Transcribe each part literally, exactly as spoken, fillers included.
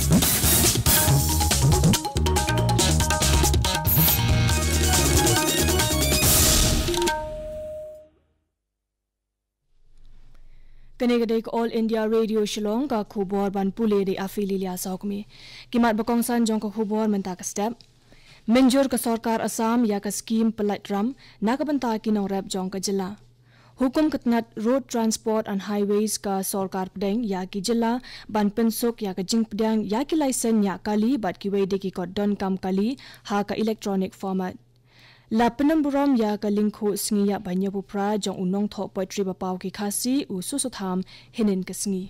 Kane ka dei ka All India Radio Shillong, ka khubor ban pule da i Afililia Sokmi. Ki mat ba kongsan jong ka khubor mynta ka step. Mynjur ka sorkar Assam ïa ka skim pyllait ram na ka bynta ki nongrep jong ka jylla. Hukum ka tnat Road Transport and Highways ka sorkar pdeng ïa ki jylla ban pynsuk ïa ka jingpdiang ïa ki laisen ñiah kali bad kiwei de ki kot donkam kali ha ka electronic format. La pynbun burom ïa ka lyngkhuh sngi ïap ba hynñiewphew phra jong u nongthoh poetry ba paw ki Khasi u Susutham hynnin ka sngi.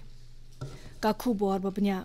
Ka khubor ba bniah.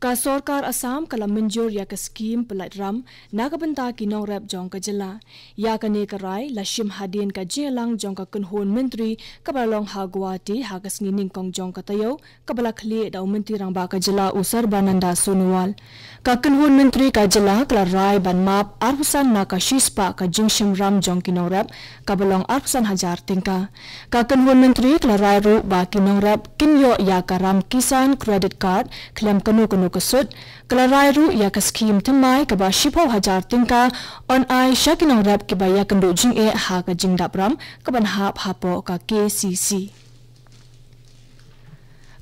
Ka sorkar Assam ka la mynjur ïa ka skim pyllait ram na ka bynta ki nongrep jong ka jylla. Ïa kane ka rai la shim hadien ka jingïalang jong ka kynhun myntri kaba la long ha Guwahati ha ka sngi nyngkong jong ka taïew, kaba la khlieh da u Myntri Rangbah ka jylla u Sarbananda Sonowal. Ka kynhun myntri ka jylla ka la rai ban map arphew san na ka shispah ka jingshim ram jong ki nongrep, kaba long arphew san hajar tyngka. Ka kynhun myntri ka la rai ruh ba ki nongrep kin ïoh ïa ka ram Kisan Credit Card khlem kano kano ka sut. Ka la rai ruh ïa ka skim thymmai kaba shiphew hajar tyngka yn ai sha ki nongrep kiba ïakynduh jingeh ha ka jingdap ram kaban hap hapoh ka K C C.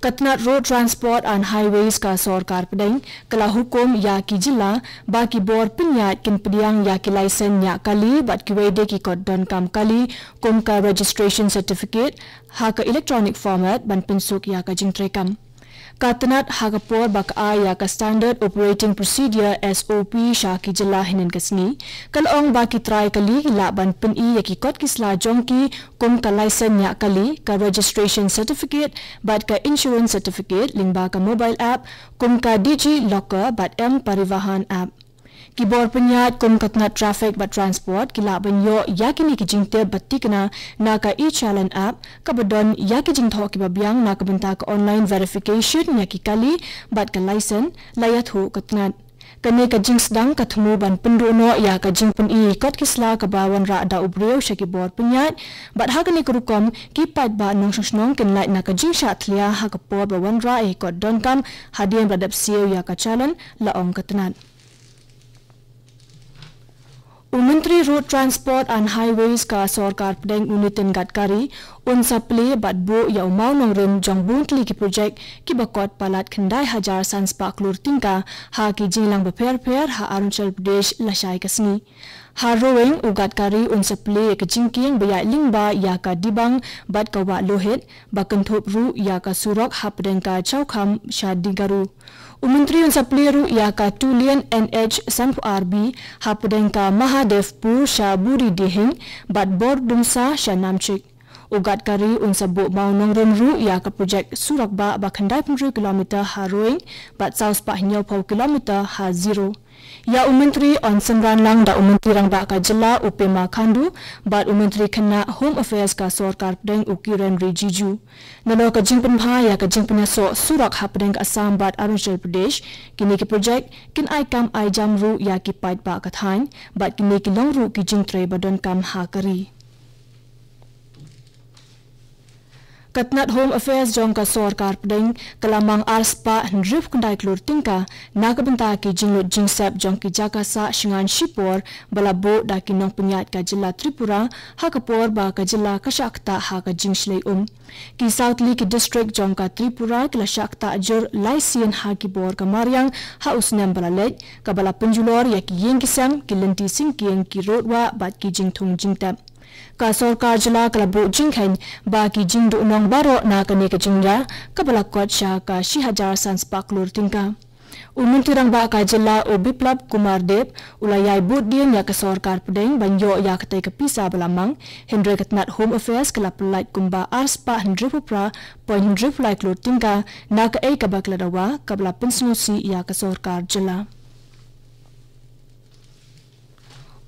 Ka tnat Road Transport and Highways ka sorkar pdeng ka la hukum ïa ki jylla ba ki bor pynïaid kin pdiang ïa ki laisen ñiah kali bad kiwei de ki kot donkam kali kum ka registration certificate ha ka electronic format ban pynsuk ïa ka jingtreikam. Ka tnat ha ka por ba ka ai ïa ka Standard Operating Procedure, S O P, sha ki jylla hynnin ka sngi, ka la ong ba ki trai kali ki lah ban pyni ïa ki kot ki sla jong ki kum ka laisen ñiah kali, ka registration certificate bad ka insurance certificate lyngba ka mobile app kum ka Digi Locker bad M Parivahan app. Ki bor pynïaid kum ka tnat Traffic bad Transport ki lah ban ïoh ïa kine ki jingtip bad thikna na ka e-Challan app kaba don ïa ki jingthoh kiba biang na ka bynta ka online verification ïa ki kali bad ka laisen, la ïathuh ka tnat. Kane ka jingsdang ka thmu ban pynduh noh ïa ka jingpyni kot ki sla kaba wanrah da u briew sha ki bor pynïaid, bad ha kane ka rukom ki paidbah nongshong shnong kin lait na ka jingshah thlia ha ka por ba wanrah ïa ki kot donkam hadien ba la dep siew ïa ka challan, la ong ka tnat. U Myntri Road Transport and Highways ka sorkar pdeng u Nitin Gadkari un sa plie bad buh ïa u mawnongrim jong bun tylli ki projek kiba kot palat khyndai hajar san spah klur tyngka ha ki jingïalang bapher bapher ha Arunachal Pradesh lashai ka sngi. Ha Roing u Gadkari un sa plie ïa ka jingkieng ba ïaid lyngba ïa ka Dibang bad ka Wah Lohit, ba kynthup ruh ïa ka surok hapdeng ka Chaukham sha Dingaru. U Myntri un sa plie ruh ïa ka two lane N H sanphew ar B hapdeng ka Mahadevpur sha Buridihing bad Bordumsa sha Namchik. U Gadkari un sa buh mawnongrim ruh ïa ka projek surok bah ba khyndai phew hynriew kilometer ha Roing bad saw spah hynñiewphew kilometer ha Ziro. Ïa u Myntri yn synran lang da u Myntri Rangbah ka jylla u Pema Khandu bad u Myntri khynnah Home Affairs ka sorkar pdeng u Kiren Rijiju. Nalor ka jingpynbha ïa ka jingpynïasoh surok hapdeng ka Assam bad Arunachal Pradesh, kine ki projek kin ai kam ai jam ruh ïa ki paidbah ka thaiñ bad kine ki long ruh ki jingtrei ba donkam ha ka ri. Ka tnat Home Affairs jong ka sorkar pdeng ka la mang ar spah hynriew khyndai klur tyngka na ka bynta ki jinglut jingsep jong ki jaka sah shngain shipor ba la buh da ki nongpynïaid ka jylla Tripura ha ka por ba ka jylla ka shah ktah ha ka jingshlei um. Ki saw tylli ki district jong ka Tripura ki la shah ktah jur lai sien ha ki bor ka mariang ha u snem ba la leit, kaba la pynjulor ïa ki ïing ki sem, ki lynti syngkien, ki rud wah bad ki jingthung jingtep. Ka sorkar jylla ka la buh jingkheiñ ba ki jingduhnong baroh na kane ka jingjia kaba la kot sha ka shi hajar san spah klur tyngka. U Myntri Rangbah ka jylla u Biplab Kumar Deb u la ïai bud dien ïa ka sorkar pdeng ban ïoh ïa katei ka pisa ba la mang, hynrei ka tnat Home Affairs ka la pyllait kumba ar spah hynriew phew phra point hynriew lai klur tyngka na kaei kaba ka la dawa kaba la pynsngewsih ïa ka sorkar jylla.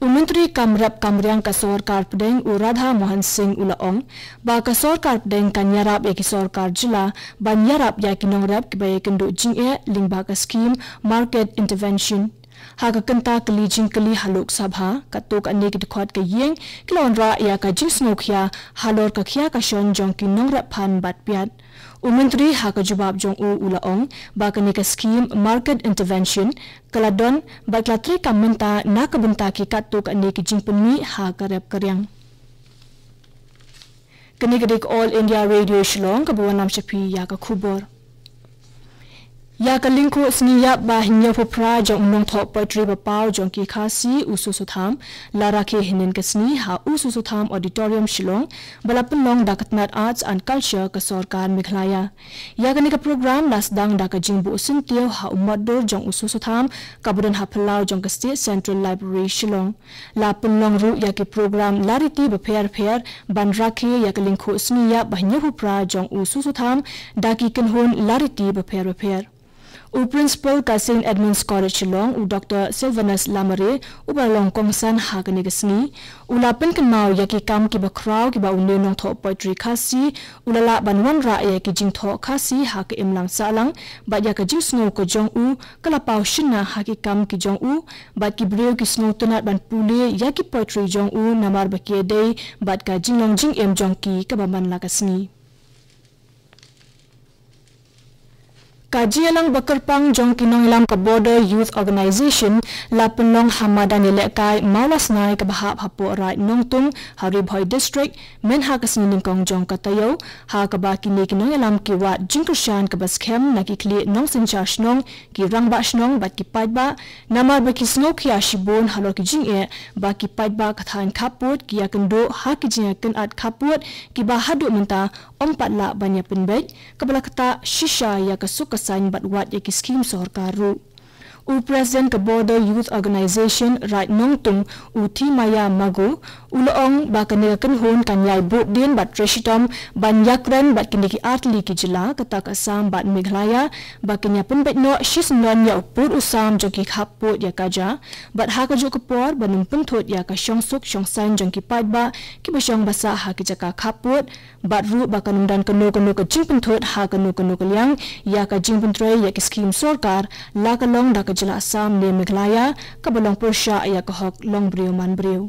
U Myntri kam rep kam riang ka sorkar pdeng u Radha Mohan Singh u la ong ba ka sorkar pdeng kan ïarap ïa ki sorkar jylla ban ïarap ïa ki nongrep kiba ïakynduh jingeh lyngba ka skim Market Intervention. Ha ka kynta kylli jingkylli ha Lok Sabha, katto katne ki dkhot ka ïing ki la wanrah ïa ka jingsngewkhia halor ka khia ka shon jong ki nongrep phan bad piat. U Myntri ha ka jubab jong u u la ong ba kane ka skhim market intervention ka la don bad ka la treikam mynta na ka bynta ki katto katne ki jingpynmih ha ka rep ka riang. Kane ka dei ka All India Radio Shillong kaba wanlam sha phi ïa ka khubor. Ïa ka lyngkhuh sngi ïap ba hynñiewphew phra jong u nongthoh poetry ba paw jong ki Khasi u Soso Tham la rakhe hynnin ka sngi ha u Soso Tham Auditorium Shillong ba la pynlong da ka tnat Arts and Culture ka sorkar Meghalaya. Ïa kane ka program la sdang da ka jingbuh syntiew ha u motdur jong u Soso Tham kaba don ha phyllaw jong ka State Central Library Shillong. La pynlong ruh ïa ki program lariti bapher bapher ban rakhe ïa ka lyngkhuh sngi ïap ba hynñiewphew phra jong u Soso Tham da ki kynhun lariti bapher bapher. U principal ka Saint Edmund's College Shillong u Doctor Sylvanus Lamare uba la long kongsan ha kane ka sngi u la pynkynmaw ïa ki kam kiba khraw kiba une u nongthoh poetry Khasi u la lah ban wanrah ïa ki jingthoh Khasi ha ka imlang sahlang bad ïa ka jingsngew ka jong u ka la paw shynna ha ki kam ki jong u bad ki briew ki sngewtynnat ban pule ïa ki poetry jong u namar ba ki ïadei bad ka jinglong jingim jong ki kaba man la ka sngi. Ka jingïalang ba kyrpang jong ki nongïalam ka Border Youth Organization la pynlong ha madan ïalehkai Mawlasnai kaba hap hapoh Raid Nongtung ha Ri Bhoi District mynha ka sngi nyngkong jong ka taïew ha kaba kine ki nongïalam ki wad jingkyrshan kaba skhem na ki khlieh nongsynshar shnong, ki rangbah shnong bad ki paidbah namar ba ki sngewkhia shibun halor ki jingeh ba ki paidbah ka thaiñ khappud ki ïakynduh ha ki jingïakynad khappud kiba haduh mynta ym pat lah ban ïapynbeit kaba la ktah shisha ïa ka suk ka saiñ bad wat ïa ki skhim sorkar ruh. U President ka Border Youth Organization Raid Nongtung u Thimaya Mago u la ong ba kane ka kynhun kan ïai buh dien bad trei shitom ban ïakren bad kine ki artylli ki jylla kata ka Assam bad Meghalaya ba kin ïapynbeit noh shisyndon ïa u pud u sam jong ki khappud ïa ka ja bad ha kajuh ka por ban ym pynthut ïa ka shongsuk shongsaiñ jong ki paidbah kiba shong ba sah ha ki jaka khappud bad ruh ba kan ym don kano kano ka jingpynthut ha kano kano ka liang ïa ka jingpyntrei ïa ki skhim sorkar la ka long da ka jylla Assam ne Meghalaya kaba long pyrshah ïa ka hok long briew man briew.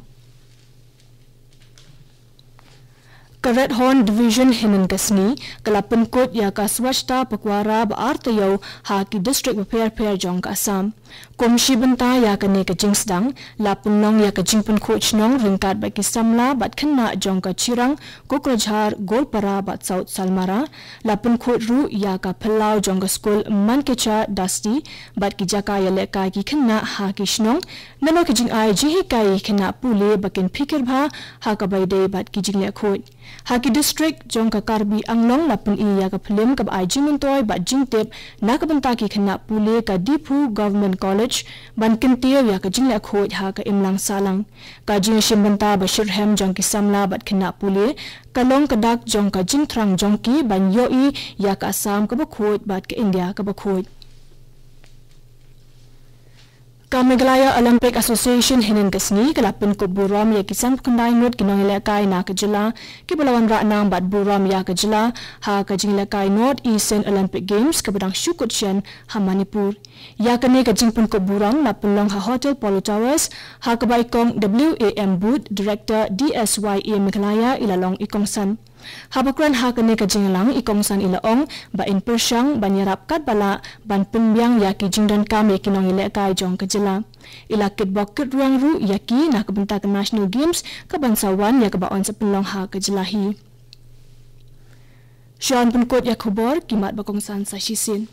Ka Red Horn Division hynnin ka sngi ka la pynkut ïa ka Swachhata Pakhwara ba ar taïew ha ki district bapher bapher jong ka Assam. Kum shi bynta ïa kane ka jingsdang la pynlong ïa ka jingpynkhuid shnong ryngkat bad ki samla bad khynnah jong ka Chirang, Kokrajhar, Goalpara bad South Salmara. La pynkhuid ruh ïa ka phyllaw jong ka skul Mankecha Dasti bad ki jaka ïalehkai ki khynnah ha ki shnong. Nalor ki jingai jinghikai ïa ki khynnah pule ba kin phikir bha ha kaba ïadei bad ki jingleh khuid. Ha ki district jong ka Karbi Anglong la pyni ïa ka phlim kaba ai jingmyntoi bad jingtip na ka bynta ki khynnah pule ka Diphu Government College ban kyntiew ïa ka jingleh khuid ha ka imlang sahlang. Ka jingïashim bynta ba shitrhem jong ki samla bad khynnah pule ka long ka dak jong ka jingthrang jong ki ban ïohi ïa ka Assam kaba khuid bad ka India kaba khuid. Ka Meghalaya Olympic Association hynnin ka sngi ka la pynkup burom ïa ki sanphew khyndai ngut ki nongïalehkai na ka jylla kiba la wanrah nam bad burom ïa ka jylla ha ka jingïalehkai North Eastern Olympic Games kaba dang shu kut shen ha Manipur. Ïa kane ka jingpynkup burom la pynlong ha Hotel Polo Towers ha kaba i kong W A M Booth, Director D S Y A Meghalaya i la long i kongsan. Haba kren ha kane ka jingïalang i kongsan i la ong ba in pyrshang ban ïarap katba lah ban pynbiang ïa ki jingdonkam ïa ki nongïalehkai jong ka jylla. I la kitbok kitrwiang ruh ïa ki na ka bynta ka National Games kaban sa wan ïa kaba yn sa pynlong ha ka jylla hi. Shuwa ban pynkut ïa ka khubor ki mat ba kongsan sa shisien.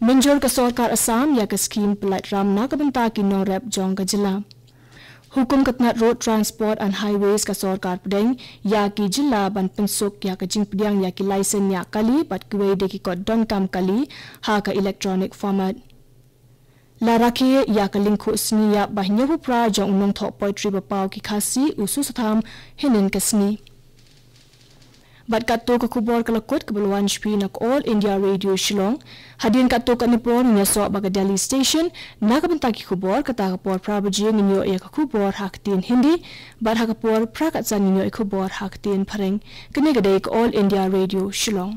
Mynjur ka sorkar Assam ïa ka skhim pyllait ram na ka bynta ki nongrep jong ka jylla. Hukum ka tnat Road Transport and Highways ka sorkar pdeng ïa ki jylla ban pynsuk ïa ka jingpdiang ïa ki license ñiah kali bad kiwei de ki kot donkam kali ha ka electronic format. La rakhe ïa ka lyngkhuh sngi ïap ba hynñiewphew phra jong u nongthoh poetry ba paw ki Khasi u Soso Tham hynnin ka sngi. Bad katto ka khubor ka la kut kaba la wan sha phi na ka All India Radio Shillong. Hadien katto katne por ngin ïasoh bad ka Delhi Station na ka bynta ki khubor, kata ka por phra baje ngin ïoh ïa ka khubor ha ka ktien Hindi bad ha ka por phra khatsan ngin ïoh ïa ka khubor ha ka ktien Phareng. Kane ka dei ka All India Radio Shillong.